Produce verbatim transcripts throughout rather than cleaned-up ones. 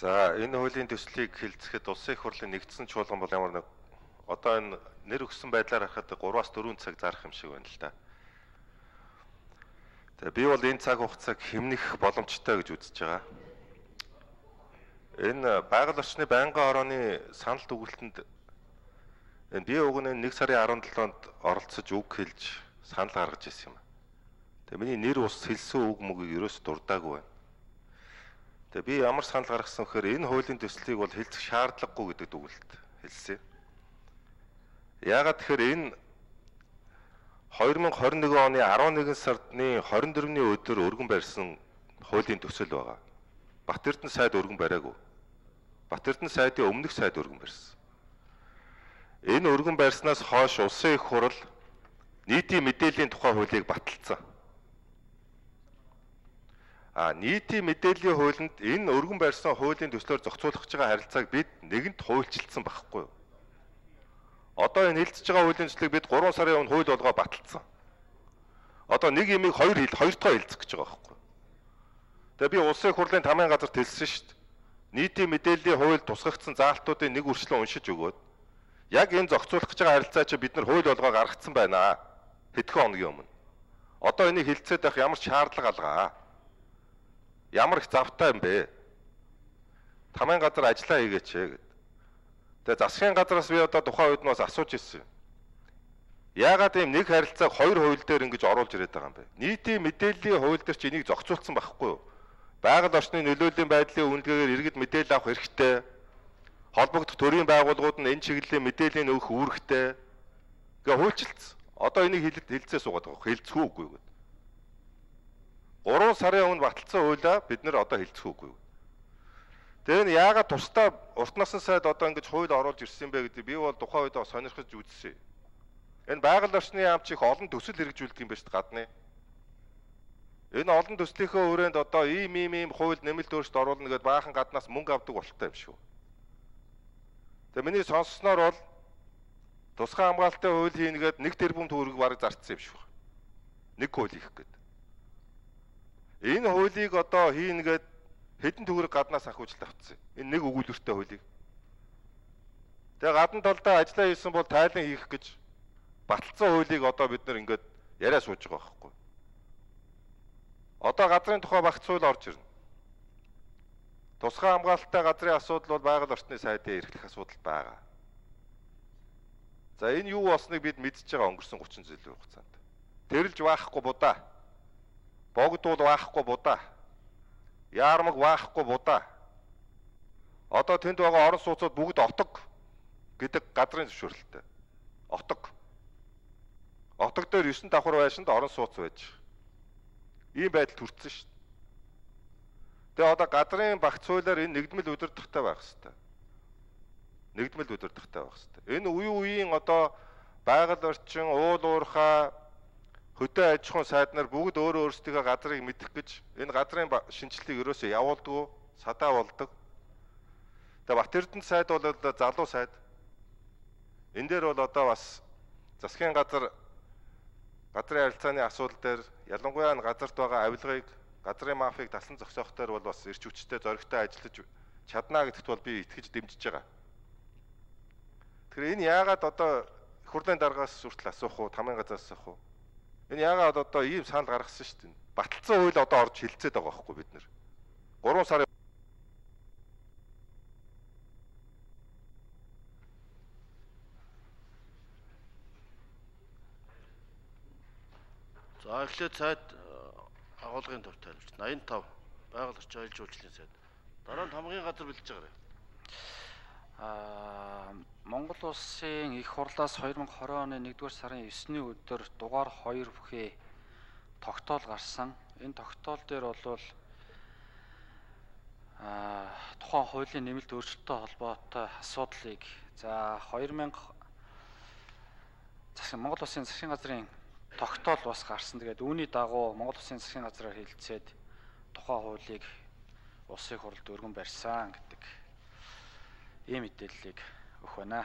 За энэ хуулийн төслийг хэлцэхэд улсын их хурлын нэгдсэн чуулган бол ямар нэг одоо энэ нэр өгсөн байдлаар харахад гураас дөрвөн цаг зарах юм шиг байна л да. Тэгээ би бол энэ цаг хугацааг хэмнэх боломжтой гэж үзэж байгаа. Энэ байгаль орчны байнгын хорооны санал дүгнэлтэнд энэ бие угны нэг сарын арван долоонд оролцож үг хэлж санал гаргаж ирсэн юм. Тэгээ миний нэр ус хэлсэн үг мөгийг ерөөс дурдаагүй байна. Тэгээ би ямар санал гаргасан вэхээр энэ хуулийн төслийг бол хэлцэх шаардлагагүй гэдэг дүгнэлт хэлсэн. Яагаад тэгэхээр энэ хоёр мянга хорин нэгэн оны арван нэгэн сарны хорин дөрөвний өдөр өргөн барьсан хуулийн төсөл байгаа. Бат Эрдэнэ сайд өргөн бариагүй. Бат Эрдэнэ сайдын өмнөх сайд өргөн барьсан. Энэ өргөн барьснаас хойш улсын их хурл нийтийн мэдээллийн тухай хуулийг баталсан. А нийтийн мэдээллийн хуулинд энэ өргөн барьсан хуулийн төслөөр зохицуулах гэж байгаа харилцааг бид нэгэнт хуульчилсан байхгүй юу? Одоо энэ хэлцэж байгаа хуулийн төслийг бид гурван сарын өмнө хууль болгоо баталсан. Одоо нэг юмыг хоёр хэл хоёр дахь хэлцэх гэж байгаа байхгүй юу? Тэгээ би улсын их хурлын тамийн газарт хэлсэн шүү дээ. Нийтийн мэдээллийн хууль тусгагдсан заалтуудын нэг үрчлэн уншиж өгөөд яг энэ зохицуулах гэж байгаа харилцаа чи бид нар хууль болгоо гаргацсан байна. Хэдхэн хоногийн өмнө. Одоо энийг хэлцээд байх ямар шаардлага алгаа? Ямар их завтай юм бэ? Тамийн газар ажиллаа хийгээч гэд. Тэгээ засгийн газраас би одоо тухайн үед нь бас асууж ирсэн. Яагаад ийм нэг харилцааг хоёр хууль дээр ингэж оруулж ирээд байгаа юм бэ? Нийтийн мэдээллийн хууль дээр чи энийг зохицуулсан байхгүй юу? Байгаль орчны нөлөөлийн байдлын үнэлгээгээр иргэд мэдээлэл авах хэрэгтэй. Холбогдох төрийн байгууллагууд нь энэ чиглэлийн мэдээллийн өгөх үүрэгтэй. Гэ хуульчилсан. Одоо энийг хэлэлцээ суугаад байгаа. Хэлцэх үгүй гэд. гурван сарын өмнө баталсан хуулиа бид нэр одоо хэлцэх үгүй. Тэгээ нь яагаад тусдаа урт насны сайд одоо ингэж хууль оруулж ирсэн бэ гэдэг би бол тухайн үед сонирхож үзсэн. Энэ байгаль орчны яамч их олон төсөл хэрэгжүүлдэг юм байна шүү дээ гадны. Энэ олон төслийнхөө өрөөнд одоо ийм ийм ийм хууль нэмэлт өөрчлөлт оруулна гэдээ баахан гаднаас мөнгө авдаг болтой юм шүү. Тэгээ миний сонссноор бол тусгай хамгаалалтын хууль хийнгээд нэг тэрбум төгрөг бараг зарцсан юм шүү. Нэг хууль хийх гээд. Энэ хуулийг одоо хийнгээд хэдэн төгрөг гаднаас ахуулж авцсан. Энэ нэг өгүүлбэртэй хуулийг. Тэгээ гадна талдаа ажиллаа хийсэн бол тайлан хийх гэж баталсан хуулийг одоо бид нэр ингээд яриа сууж байгаа байхгүй. Одоо газрын тухай багц хууль орж ирнэ. Тусгай хамгаалалттай газрын асуудал бол байгаль орчны сайдын эрхлэх асуудал байгаа. За энэ юу болсныг бид мэдчихэж байгаа өнгөрсөн гучин жилийн хугацаанд. Тэрэлж баахгүй будаа. Богдуул баахгүй будаа. Яармаг баахгүй будаа. Одоо тэнд байгаа орон сууцуд бүгд отог гэдэг газрын зөвшөөрлөлттэй. Отог. Отог дээр есөн давхар байшинд орон сууц байж. Ийм байдал төрсөн шүү дээ. Тэгээ одоо газрын багц хуулиар энэ нэгдмэл удирдахтай байх хэрэгтэй. Нэгдмэл удирдахтай байх хэрэгтэй. Энэ үе үеийн одоо байгаль орчин, уул уурхай, хөдөө аж ахуйн сайд нар бүгд өөрөө өөрсдийнхөө газрыг мэдэх гэж энэ газрын шинжилгээг ерөөсөө явуулдаг, садаа болдог. Тэгээ Бат Эрдэнэ сайд бол залуу сайд. Энэ дээр бол одоо бас засгийн газар газрын харилцааны асуудал дээр ялангуяа энэ газарт байгаа авилгыг, газрын мафийг таслан зогсоох дээр бол бас эрч хүчтэй зоригтой ажиллаж чадна гэдэгт бол би итгэж дэмжиж байгаа. Тэгэхээр энэ яагаад одоо их хурлын даргаас хүртэл асуух уу, тамийн газраас асуух уу? Энэ яагаад одоо ийм санал гаргасан шүү дээ. Баталсан хууль одоо орж хилцээд байгаа байхгүй бид нэр. гурван сарын За эхлээд сайд агуулгын төв тайлбарч восемьдесят и пять байгаль орчин аялал жуулчлалын сайд. Дараа нь хамгийн газар бэлдэж байгаарай. Аа Монгол улсын их хурлаас хоёр мянга хорин оны нэгдүгээр сарын есний өдөр дугаар хоёр бүхий тогтоол гарсан. Энэ тогтоол дээр бол аа тухайн хуулийн нэмэлт өөрчлөлттэй холбоотой асуудлыг за хоёр мянга засгийн Монгол улсын засгийн газрын тогтоол бас гарсан. Тэгээд үүний дагуу Монгол улсын засгийн газраар хэлэлцээд тухайн хуулийг улсын их хурлд өргөн барьсан гэдэг ийм мэдээллийг өгөх байна.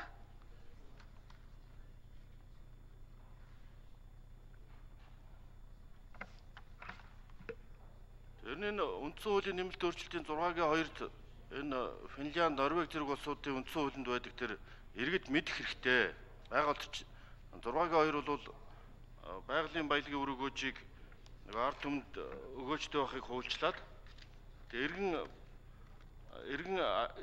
Тэр нь үндсэн хуулийн нэмэлт өөрчлөлтийн зургагийн хоёрт энэ Финлянд, Норвеги зэрэг улсуудын үндсэн хуулинд байдаг тэр иргэд мэдэх хэрэгтэй. Байгууллагч зургагийн хоёр бол байгалийн баялагын үр өгөөжийг нэг ард түмэнд өгөөжтэй байхыг хуульчлаад тэгээ иргэн иргэн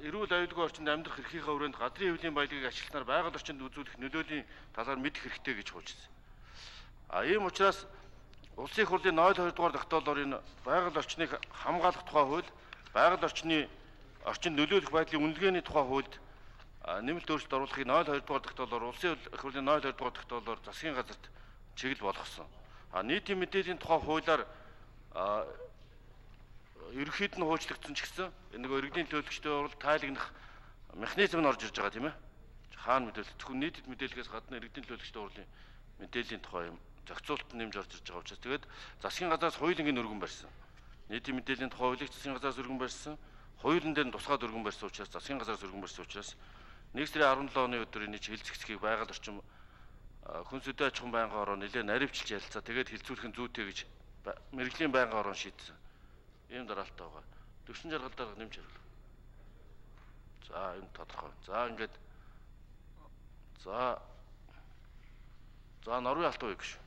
эрүүл аюулгүй орчинд амьдрах эрхийнхээ хүрээнд газрын хэвлийн баялагийг ашиглахаар байгаль орчинд үзүүлэх нөлөөлийн талаар мэдэх хэрэгтэй гэж хуульчсан. А ийм учраас Улсын их хурлын ноёл хоёр дугаар тогтоолоор энэ байгаль орчныг хамгаалах тухай хууль, байгаль орчны орчинд нөлөөлөх байдлын үнэлгээний тухай хуульд нэмэлт өөрчлөлт оруулахыг ноёл хоёр дугаар тогтоолоор Улсын их хурлын ноёл хоёр дугаар тогтоолоор засгийн газарт чиглэл болгосон. А нийтийн мэдээллийн тухай хуулиар ерөнхийд нь хуучлагдсан ч гэсэн энэ нөгөө иргэдийн төлөвлөгчдийн уралд тайлагнах механизм нь орж ирж байгаа тийм ээ. Хаана мэдээлэл зөвхөн нийтэд мэдээлэлээс гадна иргэдийн төлөвлөгчдийн урлын мэдээллийн тухай юм зохицуулт нэмж орж ирж байгаа учраас тэгээд засгийн газраас хуулийн өргөн барьсан. Нийтийн мэдээллийн тухай хуулийг засгийн газраас өргөн барьсан. Хуулийн дээр тусгаад өргөн барьсан учраас засгийн газраас өргөн барьсан учраас нэг сарын арван долоо оны өдөр энэ хэлцэгцгийг байгаль орчин хүн сүдэ аж ахуйн байнгын ороо нэлээд наривчилж ярилцаа. Тэгээд хилцүүлэх нь зүйтэй гэж мэрэгжлийн байнгын ороо шийдсэн. Ийм дараалтаа байгаа. Төвшин жаргалдаар нэмж хариулах. За энэ тодорхой. За ингээд за за Норвеги алт уу гэж.